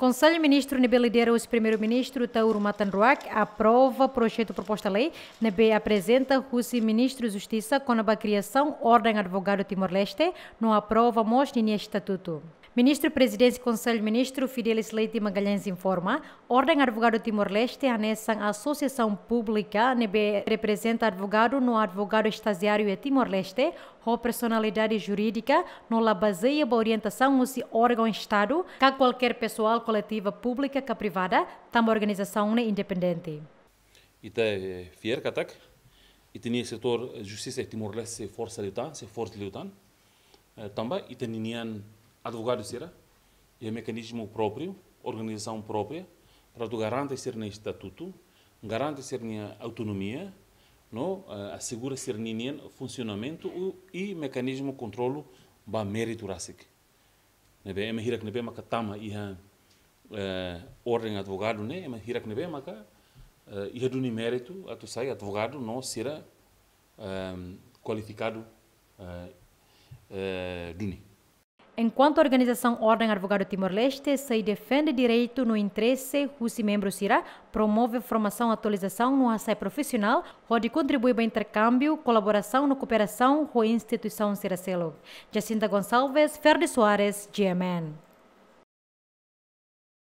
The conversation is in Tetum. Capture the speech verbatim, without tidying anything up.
Konsellu Ministru ne'ebé lidera husi Primeiru-Ministru Taur Matan Ruak aprova projetu proposta lei ne'ebé aprezenta husi Ministru Justisa kona-ba kriasaun Orden Advogadu Timor-Leste no aprova mós ninia estatutu. Ministru Prezidénsia Konsellu Ministru Fidelis Leite Magalhães informa, Orden Advogadu Timor-Leste hanesan asosiasaun públika ne'ebé reprezenta advogadu no advogadu estajiáriu iha Timor-Leste, ho personalidade jurídika no la bazeia ba orientasaun husi órgaun Estadu ka kualkér pesoál koletiva públika ka privada, tanba organizasaun ne'e independente. Ita, eh, fiar katak ita-nia setór justisa iha Timor-Leste sei forsa liután, sei forte liután. Eh, tanba ita-nian advogadu sira iha mekanizmu própriu, organizasaun própria, para atu garante sira-nia estatutu, garante sira-nia autonomia, no, eh, asegura sira-nian funsionamentu i, i mekanizmu kontrolu ba méritu rasik. Ne'ebé ema hirak ne'ebé maka tama iha, eh, Orden Advogadu ne'e, ema hirak ne'ebé maka, eh, iha duni méritu atu sai advogadu no sira, ehm, kualifikadu, eh, eh, duni. Enkuantu organizasaun Orden Advogadu Timor-Leste sei defende direitu no interese husi membru sira, promove formasaun, atualizasaun no hasa'e profisionál, hodi kontribui ba interkámbiu, kolaborasaun no kooperasaun ho instituisaun sira seluk. Jacinta Gonçalves, Ferdi Soares, G M N.